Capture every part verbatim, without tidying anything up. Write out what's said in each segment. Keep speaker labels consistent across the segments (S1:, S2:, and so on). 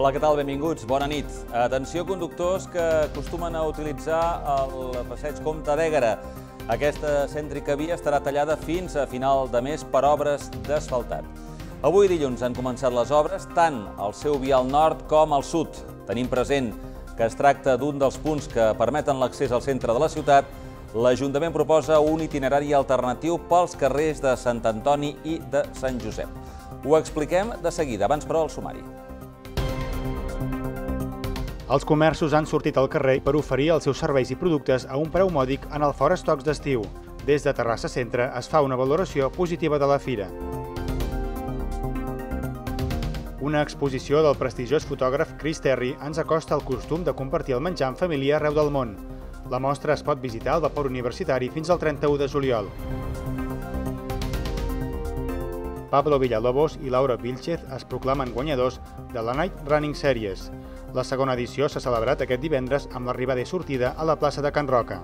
S1: Hola, què tal? Benvinguts. Bona nit. Atenció, conductors que acostumen a utilitzar el passeig Comte d'Éguera. Aquesta cèntrica via estarà tallada fins a final de mes per obres d'asfaltat. Avui dilluns han començat les obres tant al seu vial nord com al sud. Tenim present que es tracta d'un dels punts que permeten l'accés al centre de la ciutat. L'Ajuntament proposa un itinerari alternatiu pels carrers de Sant Antoni i de Sant Josep. Ho expliquem de seguida, abans però el sumari.
S2: Els comerços han sortit al carrer per oferir els seus serveis i productes a un preu mòdic en el Fora Estocs d'estiu. Des de Terrassa Centre es fa una valoració positiva de la fira. Una exposició del prestigiós fotògraf Chris Terry ens acosta al costum de compartir el menjar en família arreu del món. La mostra es pot visitar al Vapor Universitari fins al trenta-u de juliol. Pablo Villalobos i Laura Vilchez es proclamen guanyadors de la Night Running Series. La segona edició s'ha celebrat aquest divendres amb l'arribada i sortida a la plaça de Can Roca.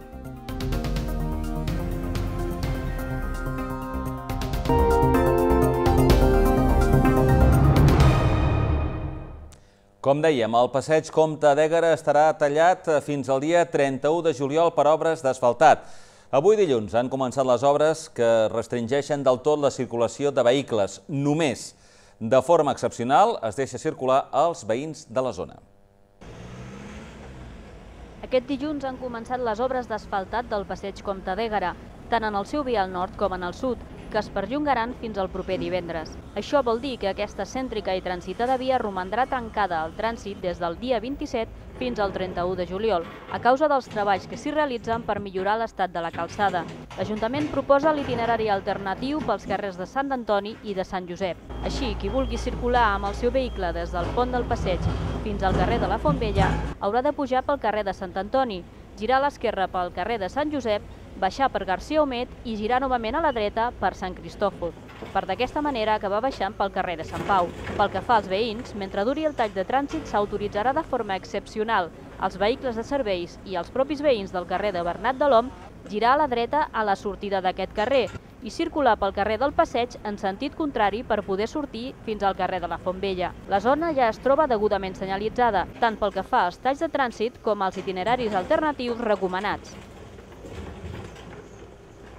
S1: Com dèiem, el passeig Comte d'Éguera estarà tallat fins al dia trenta-u de juliol per obres d'asfaltat. Avui dilluns han començat les obres que restringeixen del tot la circulació de vehicles. Només, de forma excepcional, es deixa circular als veïns de la zona.
S3: Aquest dilluns han començat les obres d'asfaltat del passeig Comte d'Éguera, tant en el seu vial nord com en el sud, que es perllongaran fins al proper divendres. Això vol dir que aquesta cèntrica i transitada via romandrà tancada al trànsit des del dia vint-i-set fins al trenta-u de juliol, a causa dels treballs que s'hi realitzen per millorar l'estat de la calçada. L'Ajuntament proposa l'itinerari alternatiu pels carrers de Sant Antoni i de Sant Josep. Així, qui vulgui circular amb el seu vehicle des del pont del passeig fins al carrer de la Font Vella haurà de pujar pel carrer de Sant Antoni, girar a l'esquerra pel carrer de Sant Josep, baixar per Garcia Omet i girar novament a la dreta per Sant Cristòfol, per d'aquesta manera acabar baixant pel carrer de Sant Pau. Pel que fa als veïns, mentre duri el tall de trànsit s'autoritzarà de forma excepcional als vehicles de serveis i als propis veïns del carrer de Bernat de l'Om girar a la dreta a la sortida d'aquest carrer i circular pel carrer del Passeig en sentit contrari per poder sortir fins al carrer de la Font Vella. La zona ja es troba degudament senyalitzada, tant pel que fa als talls de trànsit com als itineraris alternatius recomanats.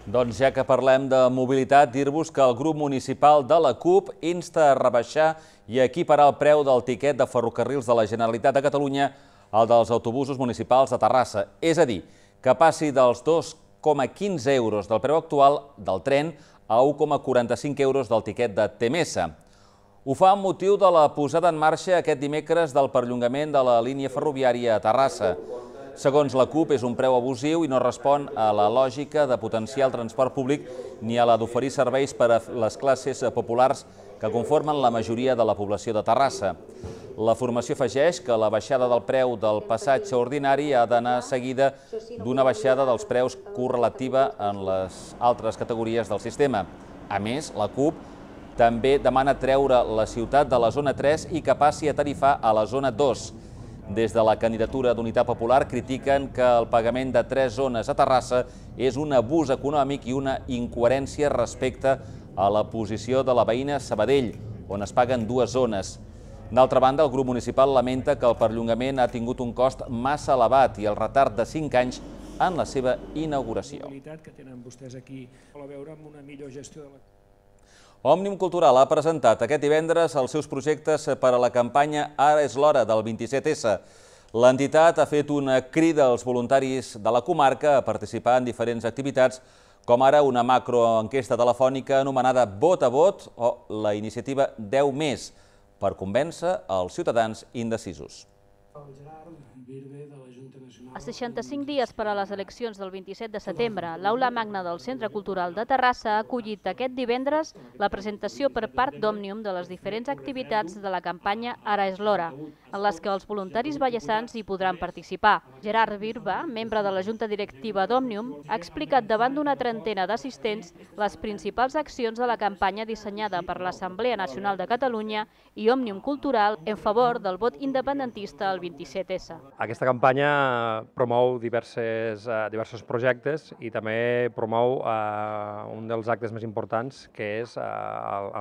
S1: Doncs ja que parlem de mobilitat, dir-vos que el grup municipal de la CUP insta a rebaixar i equiparar el preu del tiquet de ferrocarrils de la Generalitat de Catalunya al dels autobusos municipals de Terrassa. És a dir, que passi dels dos coma quinze euros del preu actual del tren a u coma quaranta-cinc euros del tiquet de T M S. Ho fa amb motiu de la posada en marxa aquest dimecres del perllongament de la línia ferroviària a Terrassa. Segons la CUP, és un preu abusiu i no respon a la lògica de potenciar el transport públic ni a la d'oferir serveis per a les classes populars que conformen la majoria de la població de Terrassa. La formació afegeix que la baixada del preu del passatge ordinari ha d'anar seguida d'una baixada dels preus correlativa en les altres categories del sistema. A més, la CUP també demana treure la ciutat de la zona tres i que passi a tarifar a la zona dos. Des de la candidatura d'Unitat Popular critiquen que el pagament de tres zones a Terrassa és un abús econòmic i una incoherència respecte a la posició de la veïna Sabadell, on es paguen dues zones. D'altra banda, el grup municipal lamenta que el perllongament ha tingut un cost massa elevat i el retard de cinc anys en la seva inauguració. Òmnium Cultural ha presentat aquest divendres els seus projectes per a la campanya Ara és l'hora del vint-i-set essa. L'entitat ha fet una crida als voluntaris de la comarca a participar en diferents activitats, com ara una macroenquesta telefònica anomenada Vot a Vot o la iniciativa deu més, per convèncer els ciutadans indecisos.
S3: A seixanta-cinc dies per a les eleccions del vint-i-set de setembre, l'Aula Magna del Centre Cultural de Terrassa ha acollit aquest divendres la presentació per part d'Òmnium de les diferents activitats de la campanya Ara és l'hora, en les que els voluntaris vallesans hi podran participar. Gerard Birba, membre de la Junta Directiva d'Òmnium, ha explicat davant d'una trentena d'assistents les principals accions de la campanya dissenyada per l'Assemblea Nacional de Catalunya i Òmnium Cultural en favor del vot independentista al vint-i-set essa.
S4: Aquesta campanya promou diverses, uh, diversos projectes i també promou uh, un dels actes més importants, que és uh,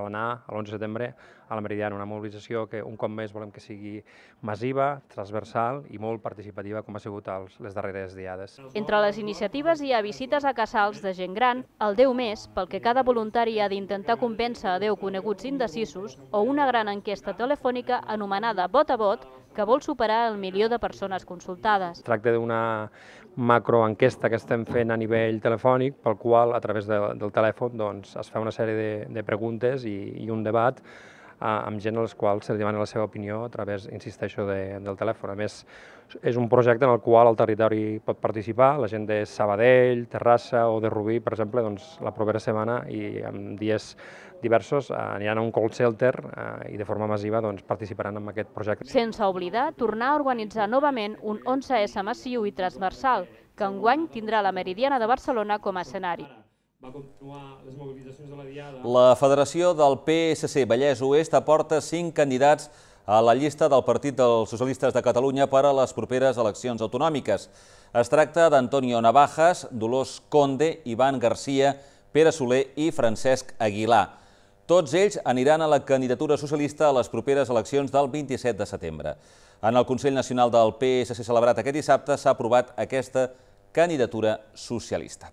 S4: l'anar a l'onze de setembre a la Meridiana, una mobilització que un cop més volem que sigui massiva, transversal i molt participativa, com ha sigut els, les darreres diades.
S3: Entre les iniciatives hi ha visites a casals de gent gran, el Déu Més, pel que cada voluntari ha d'intentar convèncer a deu coneguts indecisos, o una gran enquesta telefònica anomenada Vot a Vot, que vol superar el milió de persones consultades.
S4: Es tracta d'una macroenquesta que estem fent a nivell telefònic, pel qual, a través de, del telèfon, doncs, es fa una sèrie de, de preguntes i, i un debat amb gent als quals se li demana la seva opinió a través, insisteixo, de, del telèfon. A més, és un projecte en el qual el territori pot participar, la gent de Sabadell, Terrassa o de Rubí, per exemple, doncs, la propera setmana i en dies diversos aniran a un call shelter eh, i de forma massiva doncs, participaran en aquest projecte.
S3: Sense oblidar tornar a organitzar novament un onze essa massiu i transversal, que enguany tindrà la Meridiana de Barcelona com a escenari.
S4: Va continuar les mobilitzacions de la Diada.
S1: La Federació del P S C Vallès Oest aporta cinc candidats a la llista del Partit dels Socialistes de Catalunya per a les properes eleccions autonòmiques. Es tracta d'Antonio Navajas, Dolors Conde, Ivan Garcia, Pere Soler i Francesc Aguilar. Tots ells aniran a la candidatura socialista a les properes eleccions del vint-i-set de setembre. En el Consell Nacional del P S C celebrat aquest dissabte s'ha aprovat aquesta candidatura socialista.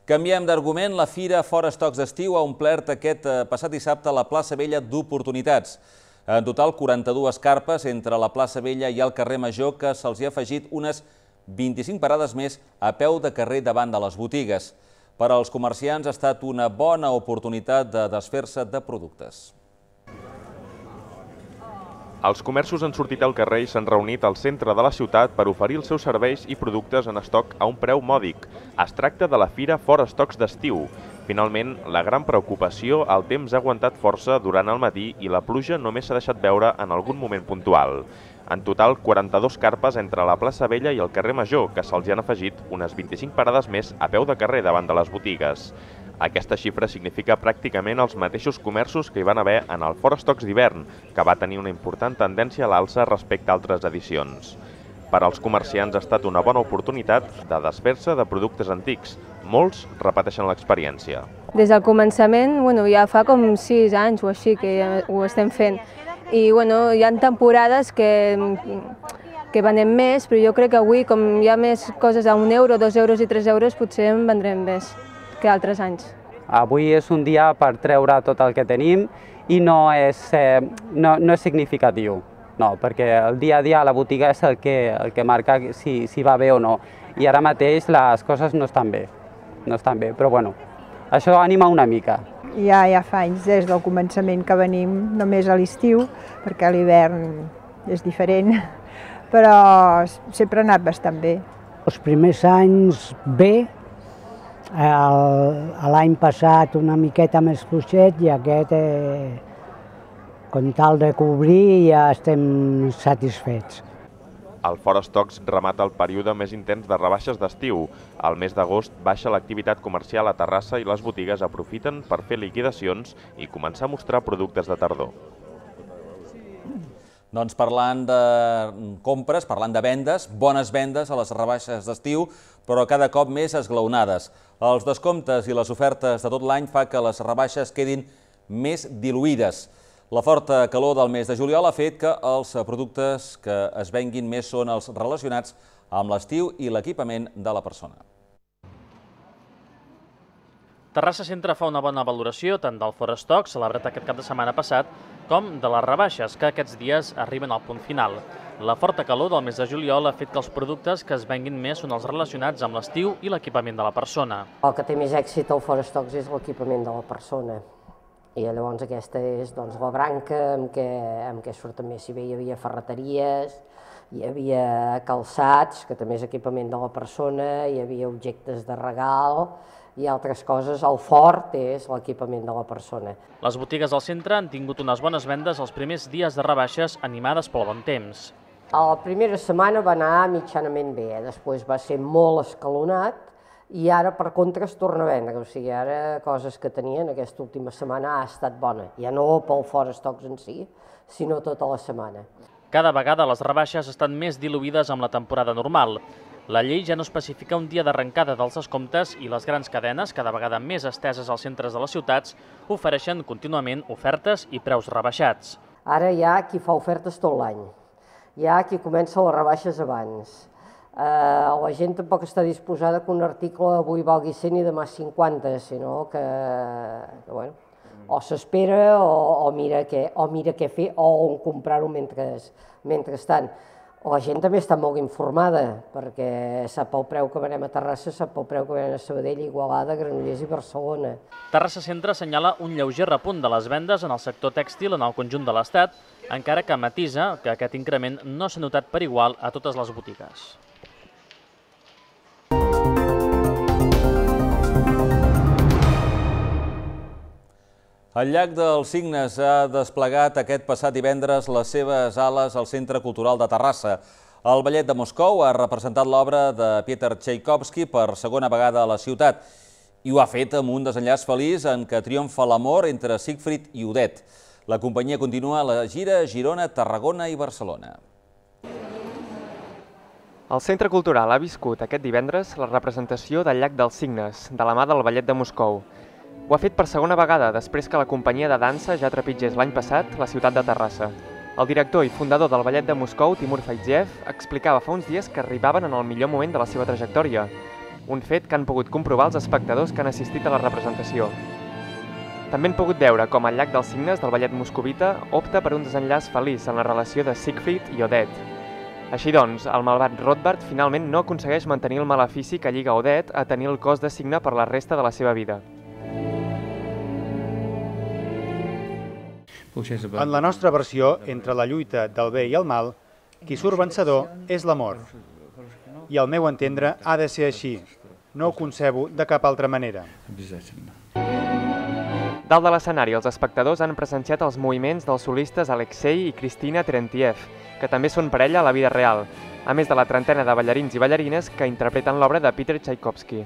S1: Canviem d'argument, la Fira Fora Estocs d'Estiu ha omplert aquest passat dissabte la plaça Vella d'oportunitats. En total, quaranta-dues carpes entre la plaça Vella i el carrer Major, que se'ls hi ha afegit unes vint-i-cinc parades més a peu de carrer davant de les botigues. Per als comerciants ha estat una bona oportunitat de desfer-se de productes.
S5: Els comerços han sortit al carrer i s'han reunit al centre de la ciutat per oferir els seus serveis i productes en estoc a un preu mòdic. Es tracta de la Fira Fora Estocs d'Estiu. Finalment, la gran preocupació, el temps ha aguantat força durant el matí i la pluja només s'ha deixat veure en algun moment puntual. En total, quaranta-dues carpes entre la plaça Vella i el carrer Major, que se'ls hi han afegit unes vint-i-cinc parades més a peu de carrer davant de les botigues. Aquesta xifra significa pràcticament els mateixos comerços que hi van haver en el Fora Estocs d'hivern, que va tenir una important tendència a l'alça respecte a altres edicions. Per als comerciants ha estat una bona oportunitat de desfer-se de productes antics. Molts repeteixen l'experiència.
S6: Des del començament, bueno, ja fa com sis anys o així que ja ho estem fent. I bueno, hi ha temporades que, que venem més, però jo crec que avui, com hi ha més coses a un euro, dos euros i tres euros, potser en vendrem més que altres anys.
S7: Avui és un dia per treure tot el que tenim i no és, eh, no, no és significatiu, no, perquè el dia a dia a la botiga és el que, el que marca si, si va bé o no. I ara mateix les coses no estan bé, no estan bé, però bueno, això anima una mica.
S8: Ja, ja fa anys des del començament que venim només a l'estiu, perquè a l'hivern és diferent, però sempre ha anat bastant bé.
S9: Els primers anys bé, l'any passat una miqueta més fluixet i aquest, eh, com tal de cobrir, ja estem satisfets.
S5: El Fora Estocs remata el període més intens de rebaixes d'estiu. Al mes d'agost baixa l'activitat comercial a Terrassa i les botigues aprofiten per fer liquidacions i començar a mostrar productes de tardor.
S1: Doncs parlant de compres, parlant de vendes, bones vendes a les rebaixes d'estiu, però cada cop més esglaonades. Els descomptes i les ofertes de tot l'any fa que les rebaixes quedin més diluïdes. La forta calor del mes de juliol ha fet que els productes que es venguin més són els relacionats amb l'estiu i l'equipament de la persona.
S10: Terrassa Centre fa una bona valoració tant del Fora Estocs, celebrat aquest cap de setmana passat, com de les rebaixes, que aquests dies arriben al punt final. La forta calor del mes de juliol ha fet que els productes que es venguin més són els relacionats amb l'estiu i l'equipament de la persona.
S11: El que té més èxit al Fora Estocs és l'equipament de la persona. I llavors aquesta és doncs, la branca amb què, amb què surt també. Si bé hi havia ferreteries, hi havia calçats, que també és equipament de la persona, hi havia objectes de regal i altres coses. El fort és l'equipament de la persona.
S10: Les botigues del centre han tingut unes bones vendes els primers dies de rebaixes animades pel bon temps.
S11: A la primera setmana va anar mitjanament bé, després va ser molt escalonat, i ara, per contra, es torna a vendre. O sigui, ara coses que tenien aquesta última setmana ha estat bona. Ja no pel Fora Estocs en si, sinó tota la setmana.
S10: Cada vegada les rebaixes estan més diluïdes amb la temporada normal. La llei ja no especifica un dia d'arrencada dels descomptes i les grans cadenes, cada vegada més esteses als centres de les ciutats, ofereixen contínuament ofertes i preus rebaixats.
S11: Ara hi ha qui fa ofertes tot l'any, hi ha qui comença les rebaixes abans. La gent tampoc està disposada que un article avui valgui cent i demà cinquanta, sinó que o s'espera o mira què fer o on comprar-ho mentrestant. La gent també està molt informada, perquè sap el preu que venem a Terrassa, sap el preu que venem a Sabadell, Igualada, Granollers i Barcelona.
S10: Terrassa Centre assenyala un lleuger repunt de les vendes en el sector tèxtil en el conjunt de l'Estat, encara que matisa que aquest increment no s'ha notat per igual a totes les botigues.
S1: El llac dels Cignes ha desplegat aquest passat divendres les seves ales al Centre Cultural de Terrassa. El Ballet de Moscou ha representat l'obra de Peter Tchaikovsky per segona vegada a la ciutat i ho ha fet amb un desenllaç feliç en què triomfa l'amor entre Siegfried i Odette. La companyia continua la gira a Girona, Tarragona i Barcelona.
S12: El Centre Cultural ha viscut aquest divendres la representació del Llac dels Cignes, de la mà del Ballet de Moscou. Ho ha fet per segona vegada després que la companyia de dansa ja trepitgés l'any passat la ciutat de Terrassa. El director i fundador del Ballet de Moscou, Timur Faidziev, explicava fa uns dies que arribaven en el millor moment de la seva trajectòria, un fet que han pogut comprovar els espectadors que han assistit a la representació. També han pogut veure com el Llac dels Cignes del Ballet moscovita opta per un desenllaç feliç en la relació de Siegfried i Odette. Així doncs, el malvat Rothbard finalment no aconsegueix mantenir el malefici que lliga Odette a tenir el cos de cigne per la resta de la seva vida.
S2: En la nostra versió, entre la lluita del bé i el mal, qui surt vencedor és l'amor. I al meu entendre ha de ser així. No ho concebo de cap altra manera.
S12: Dalt de l'escenari, els espectadors han presenciat els moviments dels solistes Alexei i Cristina Terentiev, que també són parella a la vida real, a més de la trentena de ballarins i ballarines que interpreten l'obra de Peter Tchaikovsky.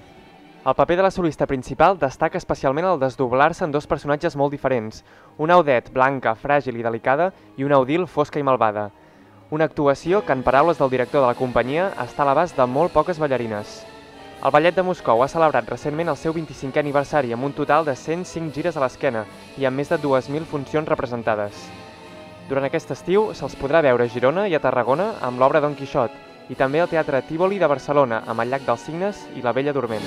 S12: El paper de la solista principal destaca especialment el desdoblar-se en dos personatges molt diferents, una Odette blanca, fràgil i delicada i una Odile fosca i malvada. Una actuació que, en paraules del director de la companyia, està a l'abast de molt poques ballarines. El Ballet de Moscou ha celebrat recentment el seu vint-i-cinquè aniversari amb un total de cent cinc gires a l'esquena i amb més de dues mil funcions representades. Durant aquest estiu se'ls podrà veure a Girona i a Tarragona amb l'obra Don Quixot i també al Teatre Tívoli de Barcelona amb el Llac dels Cignes i la Bella Dorment.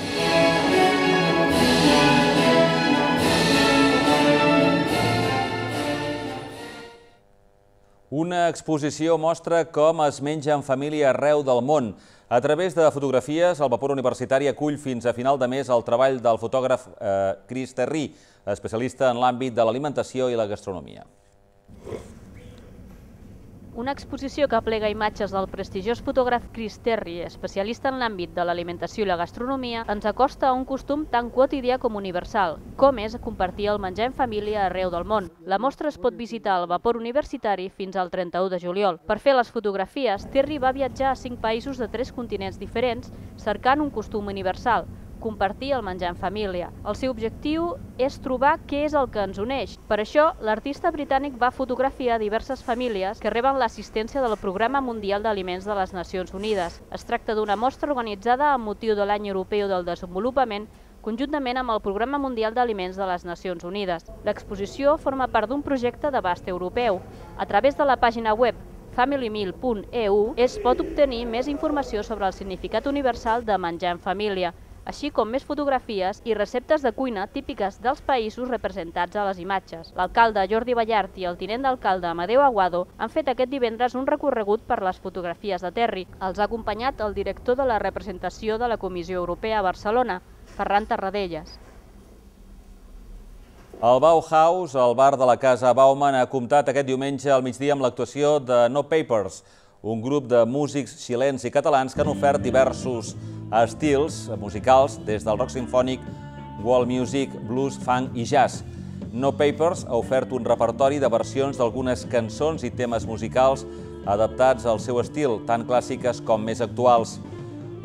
S1: Una exposició mostra com es menja en família arreu del món. A través de fotografies, el Vapor Universitari acull fins a final de mes el treball del fotògraf Chris Terry, especialista en l'àmbit de l'alimentació i la gastronomia.
S3: Una exposició que aplega imatges del prestigiós fotògraf Chris Terry, especialista en l'àmbit de l'alimentació i la gastronomia, ens acosta a un costum tan quotidià com universal, com és compartir el menjar en família arreu del món. La mostra es pot visitar al Vapor Universitari fins al trenta-u de juliol. Per fer les fotografies, Terry va viatjar a cinc països de tres continents diferents, cercant un costum universal, compartir el menjar en família. El seu objectiu és trobar què és el que ens uneix. Per això, l'artista britànic va fotografiar diverses famílies que reben l'assistència del Programa Mundial d'Aliments de les Nacions Unides. Es tracta d'una mostra organitzada amb motiu de l'Any Europeu del Desenvolupament, conjuntament amb el Programa Mundial d'Aliments de les Nacions Unides. L'exposició forma part d'un projecte d'abast europeu. A través de la pàgina web family meal punt e u es pot obtenir més informació sobre el significat universal de menjar en família, així com més fotografies i receptes de cuina típiques dels països representats a les imatges. L'alcalde Jordi Ballart i el tinent d'alcalde Amadeu Aguado han fet aquest divendres un recorregut per les fotografies de Terry. Els ha acompanyat el director de la representació de la Comissió Europea a Barcelona, Ferran Tarradellas.
S1: El Bauhaus, el bar de la Casa Bauman, ha comptat aquest diumenge al migdia amb l'actuació de No Papers, un grup de músics xilens i catalans que han ofert diversos estils musicals, des del rock sinfònic, world music, blues, funk i jazz. No Papers ha ofert un repertori de versions d'algunes cançons i temes musicals adaptats al seu estil, tant clàssiques com més actuals.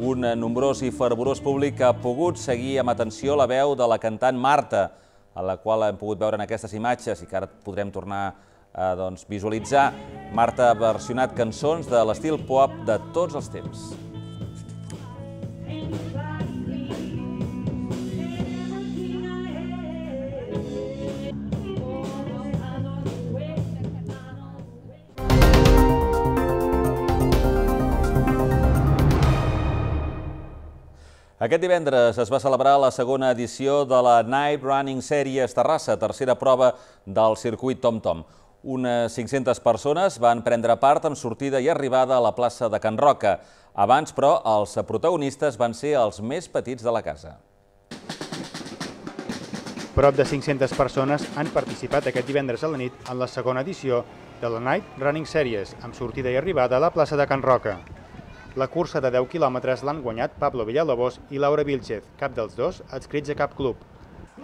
S1: Un nombrós i fervorós públic ha pogut seguir amb atenció la veu de la cantant Marta, a la qual hem pogut veure en aquestes imatges i que ara podrem tornar a visualitzar. Marta ha versionat cançons de l'estil pop de tots els temps. Aquest divendres es va celebrar la segona edició de la Night Running Series Terrassa, tercera prova del circuit TomTom. Unes cinc-centes persones van prendre part amb sortida i arribada a la plaça de Can Roca. Abans, però, els protagonistes van ser els més petits de la casa.
S2: Prop de cinc-centes persones han participat aquest divendres a la nit en la segona edició de la Night Running Series, amb sortida i arribada a la plaça de Can Roca. La cursa de deu quilòmetres l'han guanyat Pablo Villalobos i Laura Vilchez, cap dels dos adscrits a cap club.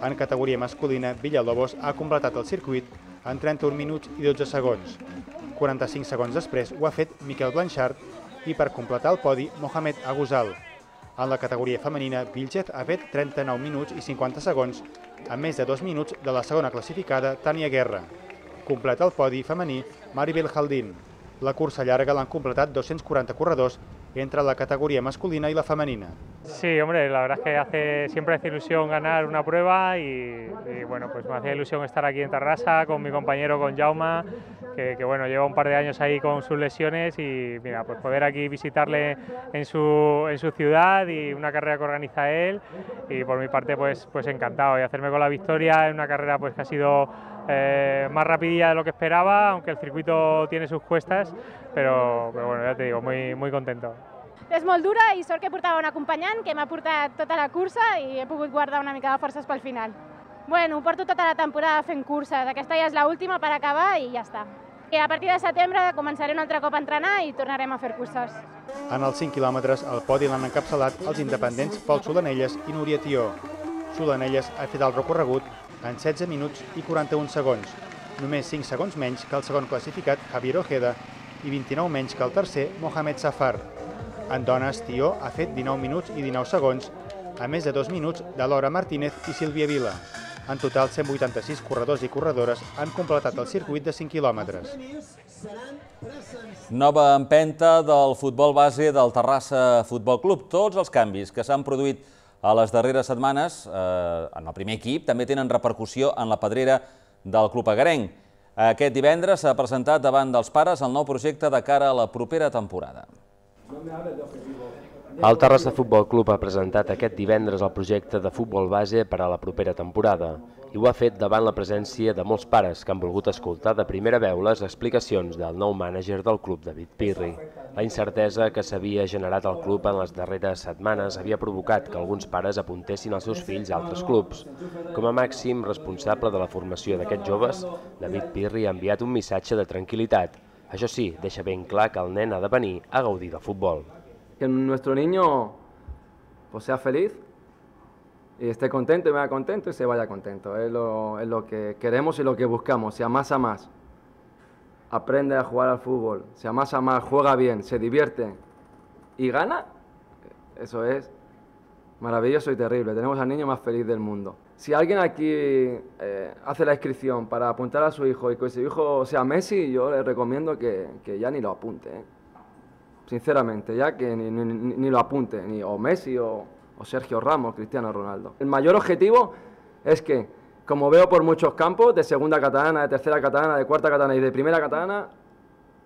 S2: En categoria masculina, Villalobos ha completat el circuit en trenta-un minuts i dotze segons. quaranta-cinc segons després ho ha fet Miquel Blanchard i per completar el podi, Mohamed Aguzal. En la categoria femenina, Vilchez ha fet trenta-nou minuts i cinquanta segons, a més de dos minuts de la segona classificada, Tània Guerra. Completa el podi femení, Maribel Jaldín. La cursa llarga l'han completat dos-cents quaranta corredors entre la categoría masculina y la femenina.
S13: Sí, hombre, la verdad es que hace, siempre hace ilusión ganar una prueba y, y bueno, pues me hacía ilusión estar aquí en Terrassa con mi compañero, con Jaume, que, que bueno, lleva un par de años ahí con sus lesiones y mira, pues poder aquí visitarle en su, en su ciudad y una carrera que organiza él y por mi parte pues, pues encantado y hacerme con la victoria en una carrera pues que ha sido eh, más rapidilla de lo que esperaba, aunque el circuito tiene sus cuestas, pero, pero bueno, ya te digo, muy, muy contento.
S14: És molt dura i sort que portava un acompanyant que m'ha portat tota la cursa i he pogut guardar una mica de forces pel final. Bueno, porto tota la temporada fent curses, aquesta ja és l'última per acabar i ja està. I a partir de setembre començaré un altre cop a entrenar i tornarem a fer curses.
S2: En els cinc quilòmetres, el podi l'han encapçalat els independents Pol Solanelles i Núria Tió. Solanelles ha fet el recorregut en setze minuts i quaranta-un segons, només cinc segons menys que el segon classificat Javier Ojeda i vint-i-nou menys que el tercer Mohamed Safar. En dones, Tió ha fet dinou minuts i dinou segons, a més de dos minuts de Laura Martínez i Sílvia Vila. En total, cent vuitanta-sis corredors i corredores han completat el circuit de cinc quilòmetres.
S1: Nova empenta del futbol base del Terrassa Futbol Club. Tots els canvis que s'han produït a les darreres setmanes eh, en el primer equip també tenen repercussió en la pedrera del club agarenc. Aquest divendres s'ha presentat davant dels pares el nou projecte de cara a la propera temporada.
S15: El Terrassa Futbol Club ha presentat aquest divendres el projecte de futbol base per a la propera temporada i ho ha fet davant la presència de molts pares que han volgut escoltar de primera veu les explicacions del nou mànager del club, David Pirri. La incertesa que s'havia generat al club en les darreres setmanes havia provocat que alguns pares apuntessin els seus fills a altres clubs. Com a màxim responsable de la formació d'aquests joves, David Pirri ha enviat un missatge de tranquil·litat. Això sí, deixa ben clar que el nen ha de venir a gaudir del futbol.
S16: Que nuestro niño pues, sea feliz y esté contento y vaya contento y se vaya contento. Es lo, es lo que queremos y lo que buscamos. Si amas a más, aprende a jugar al fútbol. Si amas a más, juega bien, se divierte y gana, eso es maravilloso y terrible. Tenemos al niño más feliz del mundo. Si alguien aquí eh, hace la inscripción para apuntar a su hijo y que su hijo sea Messi, yo le recomiendo que, que ya ni lo apunte. ¿eh? Sinceramente, ya que ni, ni, ni lo apunte, ni o Messi o, o Sergio Ramos, Cristiano Ronaldo. El mayor objetivo es que, como veo por muchos campos, de segunda catalana, de tercera catalana, de cuarta catalana y de primera catalana,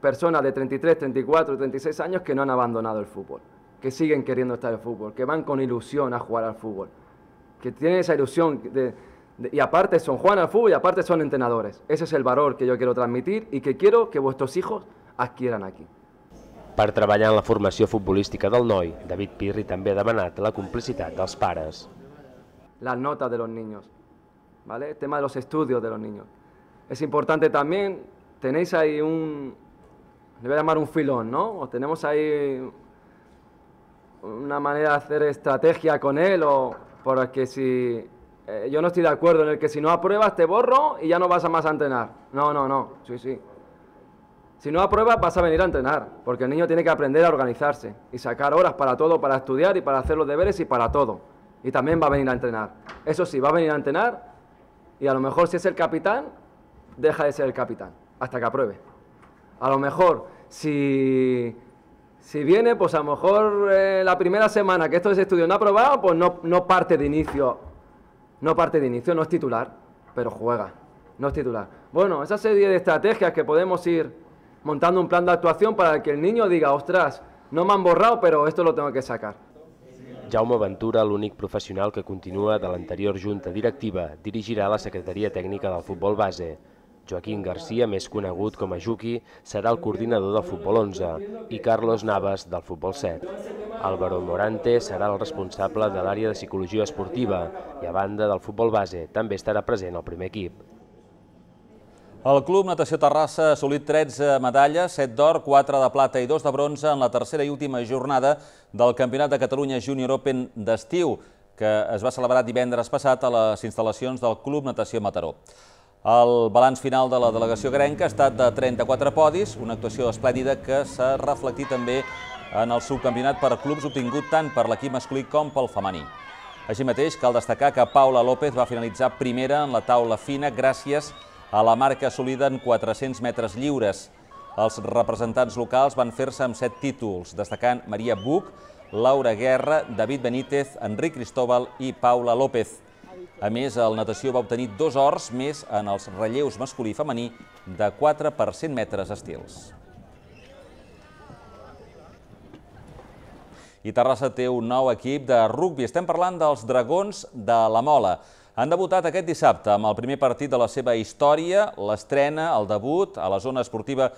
S16: personas de treinta y tres, treinta y cuatro, treinta y seis años que no han abandonado el fútbol, que siguen queriendo estar en el fútbol, que van con ilusión a jugar al fútbol, que tienen esa ilusión de, de, y aparte son juegan al fútbol y aparte son entrenadores. Ese es el valor que yo quiero transmitir y que quiero que vuestros hijos adquieran aquí.
S15: Per treballar en la formació futbolística del noi, David Pirri també ha demanat la complicitat dels pares.
S16: Las notas de los niños, ¿vale? El tema de los estudios de los niños. Es importante también, tenéis ahí un, le voy a llamar un filón, ¿no? O tenemos ahí una manera de hacer estrategia con él, o porque si eh, yo no estoy de acuerdo en el que si no apruebas te borro y ya no vas a más a entrenar. No, no, no, sí, sí. Si no apruebas vas a venir a entrenar, porque el niño tiene que aprender a organizarse y sacar horas para todo, para estudiar y para hacer los deberes y para todo. Y también va a venir a entrenar. Eso sí, va a venir a entrenar y a lo mejor si es el capitán, deja de ser el capitán, hasta que apruebe. A lo mejor, si, si viene, pues a lo mejor eh, la primera semana que estos estudios no ha aprobado, pues no, no parte de inicio, no parte de inicio, no es titular, pero juega, no es titular. Bueno, esa serie de estrategias que podemos ir montando un plan de actuación para que el niño diga, ostras, no me han borrado, pero esto lo tengo que sacar.
S15: Jaume Ventura, l'únic professional que continua de l'anterior junta directiva, dirigirà la secretaria tècnica del futbol base. Joaquín García, més conegut com a Juqui, serà el coordinador del futbol onze i Carlos Navas del futbol set. Álvaro Morante serà el responsable de l'àrea de psicologia esportiva i, a banda del futbol base, també estarà present al primer equip.
S1: El Club Natació Terrassa ha assolit tretze medalles, set d'or, quatre de plata i dos de bronze en la tercera i última jornada del Campionat de Catalunya Junior Open d'estiu, que es va celebrar divendres passat a les instal·lacions del Club Natació Mataró. El balanç final de la delegació grenca ha estat de trenta-quatre podis, una actuació esplèndida que s'ha reflectit també en el subcampionat per clubs obtingut tant per l'equip masculí com pel femení. Així mateix, cal destacar que Paula López va finalitzar primera en la taula fina gràcies a la marca assolida en quatre-cents metres lliures. Els representants locals van fer-se amb set títols, destacant Maria Buch, Laura Guerra, David Benítez, Enric Cristóbal i Paula López. A més, el natació va obtenir dos ors més en els relleus masculí i femení de quatre per cent metres estils. I Terrassa té un nou equip de rugbi. Estem parlant dels Dragons de la Mola. Han debutat aquest dissabte amb el primer partit de la seva història, l'estrena, el debut a la zona esportiva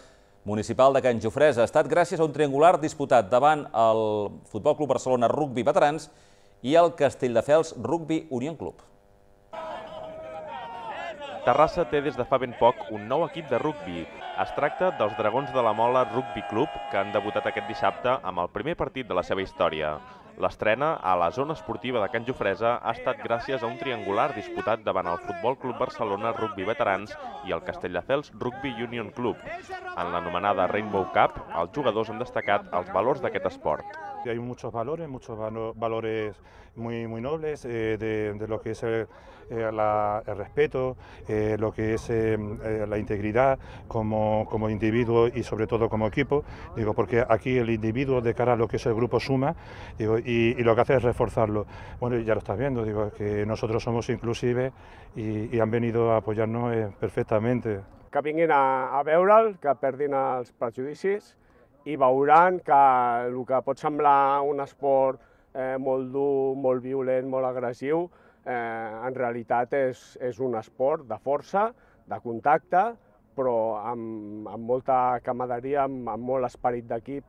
S1: municipal de Can Jofresa. Ha estat gràcies a un triangular disputat davant el Futbol Club Barcelona Rugbi Veterans i el Castelldefels Rugbi Union Club.
S5: Terrassa té des de fa ben poc un nou equip de rugbi. Es tracta dels Dragons de la Mola Rugbi Club, que han debutat aquest dissabte amb el primer partit de la seva història. L'estrena a la zona esportiva de Can Jofresa ha estat gràcies a un triangular disputat davant el Futbol Club Barcelona Rugbi Veterans i el Castelldefels Rugbi Union Club. En l'anomenada Rainbow Cup, els jugadors han destacat els valors d'aquest esport.
S17: Hay muchos valores, muchos valores muy, muy nobles eh, de, de lo que es el, eh, la, el respeto, eh, lo que es eh, la integridad como, como individuo y sobre todo como equipo, digo, porque aquí el individuo de cara a lo que es el grupo suma, digo, y, y lo que hace es reforzarlo. Bueno, ya lo estás viendo, digo, que nosotros somos inclusives y, y han venido a apoyarnos eh, perfectamente.
S18: Que vinguin a, a veure'l, que perdin els prejudicis i veuran que el que pot semblar un esport eh, molt dur, molt violent, molt agressiu, eh, en realitat és, és un esport de força, de contacte, però amb, amb molta camaraderia, amb, amb molt esperit d'equip.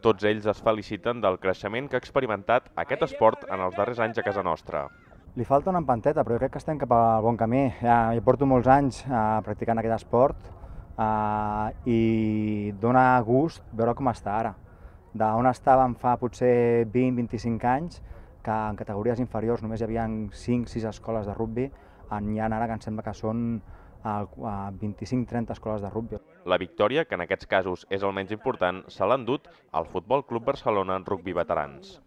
S5: Tots ells es feliciten del creixement que ha experimentat aquest esport en els darrers anys a casa nostra.
S19: Li falta una empanteta, però jo crec que estem cap al bon camí. Ja, jo porto molts anys uh, practicant aquest esport, Uh, i dona gust veure com està ara. D'on estàvem fa potser vint a vint-i-cinc anys, que en categories inferiors només hi havia cinc sis escoles de rugbi, n'hi ha ara que em sembla que són uh, vint-i-cinc a trenta escoles de rugbi.
S5: La victòria, que en aquests casos és el menys important, se l'ha endut al Futbol Club Barcelona Rugbi Veterans.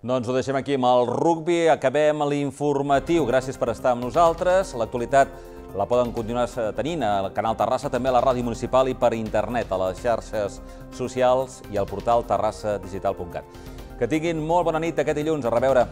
S1: Doncs ho deixem aquí amb el rugbi, acabem l'informatiu. Gràcies per estar amb nosaltres. L'actualitat la poden continuar tenint al Canal Terrassa, també a la ràdio municipal i per internet, a les xarxes socials i al portal terrassa digital punt cat. Que tinguin molt bona nit aquest dilluns. A reveure.